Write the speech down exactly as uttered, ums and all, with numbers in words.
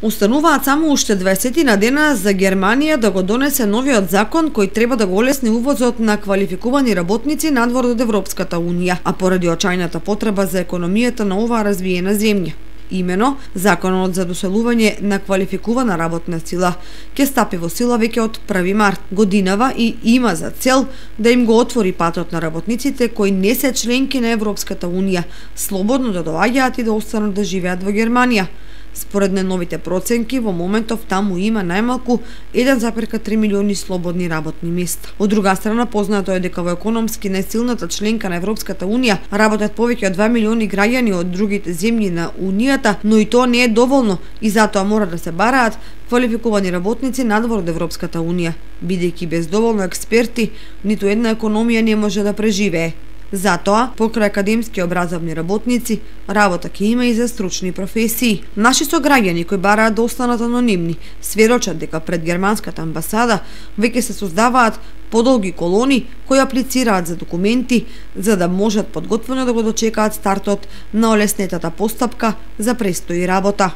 Остануваат само уште дваесет на дена за Германија да го донесе новиот закон кој треба да го олесни увозот на квалификувани работници надвор од Европската унија, а поради очајната потреба за економијата на оваа развиена земја. Имено, законот за доселување на квалификувана работна сила ќе стапи во сила веќе од први март годинава и има за цел да им го отвори патот на работниците кои не се членки на Европската унија, слободно да доаѓаат и да останат да живеат во Германија. Според најновите проценки, во моментов таму има најмалку еден запирка три милиони слободни работни места. Од друга страна, познато е дека во економски најсилната членка на Европската унија работат повеќе од два милиони граѓани од другите земји на унијата, но и тоа не е доволно и затоа мора да се бараат квалификувани работници надвор од Европската унија, бидејќи без доволно експерти ниту една економија не може да преживее. Затоа, покрај академски образовни работници, работа ќе има и за стручни професии. Наши сограѓани кои бараат да останат анонимни, сведочат дека пред германската амбасада веќе се создаваат подолги колони кои аплицираат за документи за да можат подготвено да го дочекаат стартот на олеснетата постапка за престои работа.